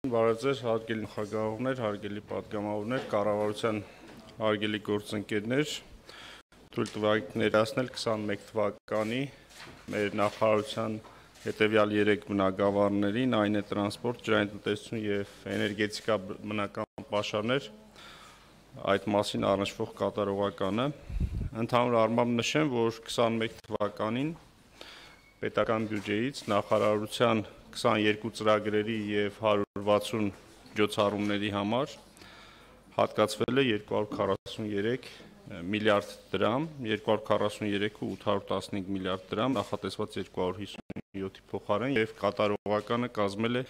Բարեձեր, հարգելի նախագահողներ, հարգելի պատգամավորներ, կառավարության հարգելի գործընկերներ, թույլ տվեք ներկայացնել 21 թվականի մեր նախարարության հետևյալ 3 բնագավառներին, այն է տրանսպորտ, ջրային եւ էներգետիկա բնական պաշարներ, այդ մասին առնչվող կատարողականը։ Ընդհանուր առմամբ նշեմ, որ 21 թվականին պետական բյուջեից նախարարության 22 ծրագրերի եւ 160 միջոցառումների համար հատկացվել է 243 միլիարդ դրամ, 243.815 միլիարդ դրամ, նախատեսված 257-ի փոխարեն եւ կատարողականը կազմել է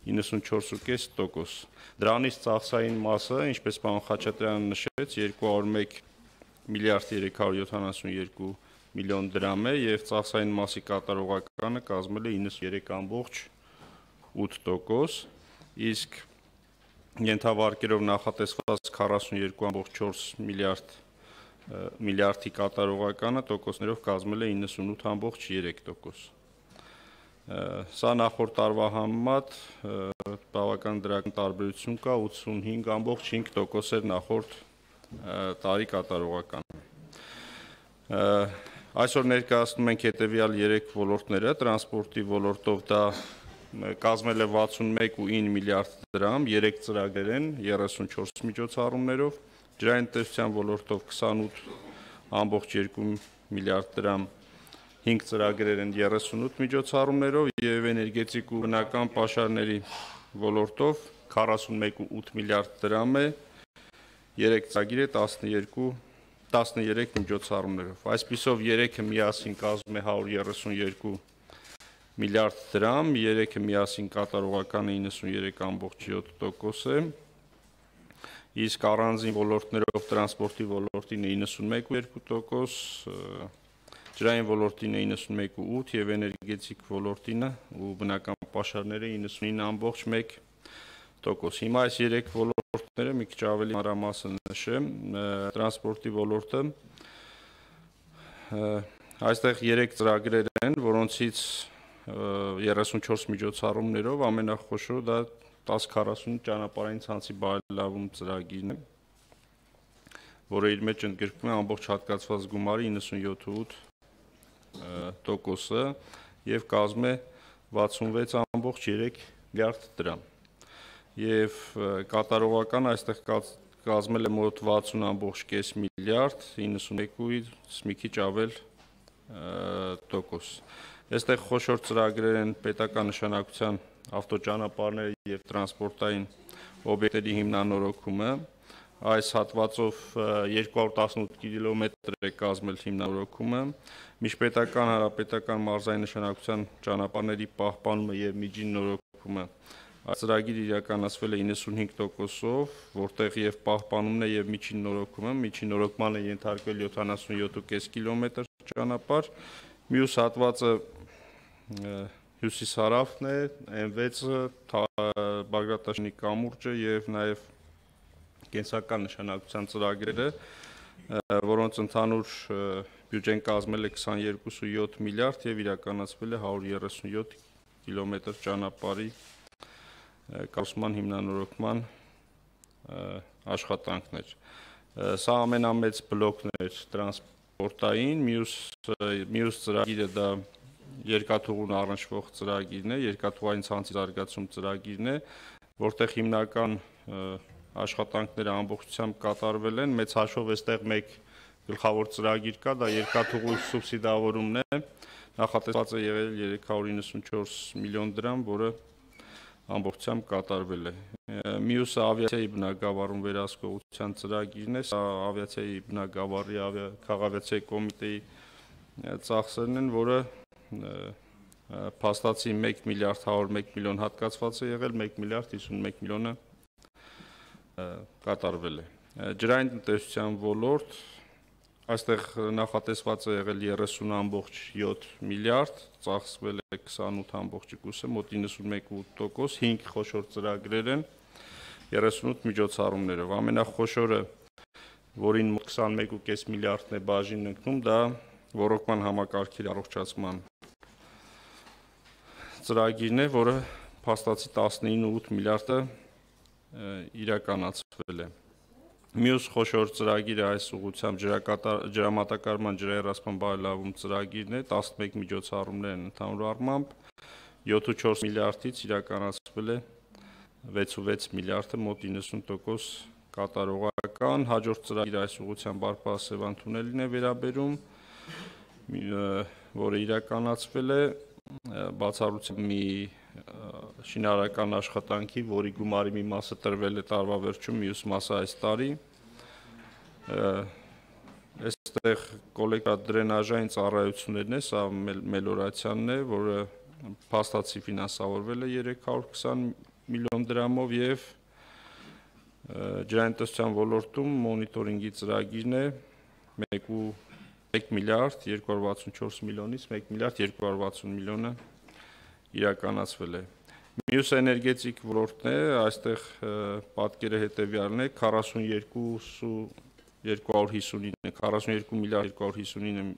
94.5%։ Դրանից ծախսային մասը, ինչպես պարոն Խաչատրյանը նշեց, 201 միլիարդ 372 միլիոն դրամ է եւ ծախսային մասի կատարողականը կազմել է 93.8%, իսկ ենթավարկերով նախատեսված 42.4 միլիարդի կատարողականը տոկոսներով կազմել է 98.3%։ Սա նախորդ տարվա համեմատ բավական դրական տարբերություն կա, 85.5% էր նախորդ տարի կատարողականը։ Այսօր ներկայացնում ենք հետևյալ 3 ոլորտները, տրանսպորտի ոլորտով դա կազմել է 61.9 միլիարդ դրամ, 3 ծրագրեր են 34 միջոցառումներով, ջրային տնտեսության ոլորտով 28.2 միլիարդ դրամ, 5 ծրագրեր են 38 միջոցառումներով եւ էներգետիկ ու բնական պաշարների ոլորտով 41.8 միլիարդ դրամ է, 3 ծրագիր է 13 միջոցառումներով։ Այսպիսով 3-ը միասին կազմում է 132 միլիարդ դրամ, 3-ը միասին կատարողականը 93.7% է, իսկ առանձին ոլորտներով տրանսպորտի ոլորտին է 91.2%, ջրային ոլորտին է 91.8% եւ էներգետիկ ոլորտին ու բնական պաշարները 99.1%։ Հիմա այս 3 ոլորտները մի քիչ ավելի մանրամասն նշեմ, տրանսպորտի ոլորտը այստեղ 3 ծրագրեր են, որոնցից 34 միջոցառումներով ամենախոշորը դա 1040 ճանապարհային ցանցի բարելավում ծրագիրն է, որը իր մեջ ընդգրկում է ամբողջ հատկացված գումարի 97.8%-ը եւ կազմում է 66.3 միլիարդ դրամ։ Եւ կատարողական այստեղ կազմել է մոտ 60.5 միլիարդ, 91-ից մի քիչ ավել տոկոս։ Այստեղ խոշոր ծրագրեր են պետական նշանակության ավտոճանապարհների եւ տրանսպորտային օբյեկտների հիմնանորոգումը, այս հատվածով 218 կիլոմետր է կազմել հիմնանորոգումը, միջպետական հանրապետական մարզային նշանակության ճանապարհների պահպանումը եւ միջին նորոգումը Այս ծրագիրը իրականացվել է 95%-ով, որտեղ եւ պահպանումն է եւ միջին նորոգման է ենթարկվել 77.5 կիլոմետր ճանապարհ, մյուս հատվածը հյուսիսարավն է, M6-ը, Բագրատաշնի կամուրջը եւ նաեւ կենսական նշանակության ծրագրերը, որոնց ընդհանուր բյուջեն կազմել է 22.7 միլիարդ եւ իրականացվել է 137 կիլոմետր ճանապարհի կառուցման հիմնանորոգման աշխատանքներ։ Սա ամենամեծ բլոկն էր տրանսպորտային, մյուս ծրագիրը դա երկաթուղուն առնչվող ծրագիրն է, երկաթուղային ցանցի զարգացում ծրագիրն է, որտեղ հիմնական աշխատանքները ամբողջությամբ կատարվել են, մեծ հաշվով այստեղ մեկ գլխավոր ծրագիր կա, դա երկաթուղու սուբսիդավորումն է, նախատեսված է եղել 394 միլիոն դրամ, որը ամբողջությամբ կատարվել է։ Մյուսը ավիացիայի բնագավառում վերահսկողության ծրագիրն է, սա ավիացիայի բնագավառի քաղաքավիացիայի կոմիտեի ծախսերն են, որը փաստացի 1 միլիարդ 101 միլիոն հատկացված է եղել, 1 միլիարդ 51 միլիոնը կատարվել է։ Ջրային տնտեսության ոլորտ այստեղ նախատեսված է եղել 30.7 միլիարդ, ծախսվել է 28.2, մոտ 91.8%, 5 խոշոր ծրագրեր են 38 միջոցառումներով։ Ամենախոշորը, որին մոտ 21.5 միլիարդն է բաժին ընկնում, դա ռոռոկման համակարգերի առողջացման ծրագիրն է, որը փաստացի 19.8 միլիարդը իրականացվել է։ Մյուս խոշոր ծրագիրը այս ուղղությամբ ջրամատակարարման ջրահեռացման բարելավում ծրագիրն է, 11 միջոցառումներ են ընդհանուր առմամբ, 7.4 միլիարդից իրականացվել է 6.6 միլիարդը, մոտ 90% կատարողական։ Հաջորդ ծրագիրը այս ուղղությամբ Բարբառ-Սևան թունելին է վերաբերում, որը իրականացվել է բացառությամբ մի շինարարական աշխատանքի, որի գումարի մի մասը տրվել է տարվա վերջում, մյուս մասը այս տարի։ Այստեղ կոլեկտորադրենաժային ծառայություններն է, սա մելորացիանն է, որը փաստացի ֆինանսավորվել է 320 միլիոն դրամով եւ ջրային ոլորտում մոնիտորինգի ծրագիրն է 1 միլիարդ 264 միլիոնից 1 միլիարդ 260 միլիոնը իրականացվել է։ Մյուս էներգետիկ ոլորտն է, այստեղ պատկերը հետևյալն է, 42 միլիարդ 259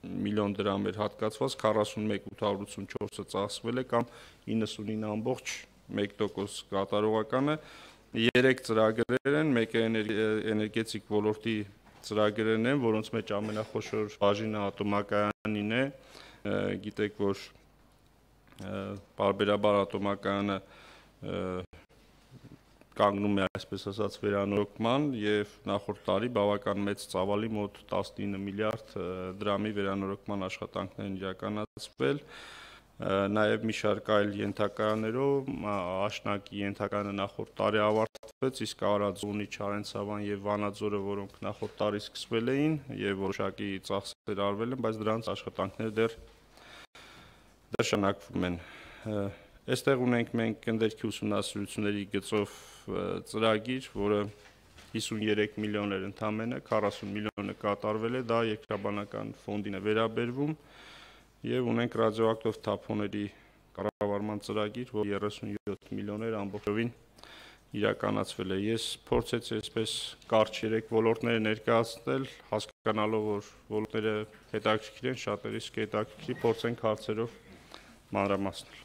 միլիոն դրամ էր հատկացված, 41.884-ը ծախսվել է կամ 99.1% կատարողականը։ 3 ծրագրեր են, մեկը էներգետիկ ոլորտի ծրագրերն են, որոնց մեջ ամենախոշոր բաժինը ատոմակայանին է, գիտեք, որ պարբերաբար ատոմակայանը կանգնում է, այսպես ասած, վերանորոգման եւ նախորդ տարի բավական մեծ ծավալի մոտ 19 միլիարդ դրամի վերանորոգման աշխատանքներ են իրականացվել, նաեւ մի շարք այլ ենթակայաններով, աշնակի ենթակայանը նախորդ տարի ավարտվեց, իսկ Արաձունի, Չարենցավան եւ Վանաձորը, որոնք նախորդ տարի սկսվել էին եւ որոշակի ծախսեր արվել են, բայց դրանց աշխատանքները դեռ շարունակվում են։ Այստեղ ունենք մենք գնդերքի ուսումնասիրությունների գծով ծրագիր, որը 53 միլիոն էր ընդամենը, 40 միլիոնը կատարվել է, դա երկրաբանական ֆոնդին է վերաբերվում եւ ունենք ռադիոակտիվ թափոնների կառավարման ծրագիր, որ 37 միլիոներ ամբողջովին իրականացվել է։ Ես փորձեցի այսպես կարճ 3 ոլորտներ ներկայացնել, հասկանալով, որ ոլորտները հետաքրքիր են, շատերիս հետաքրքիր, փորձենք հարցերով մանրամասնել։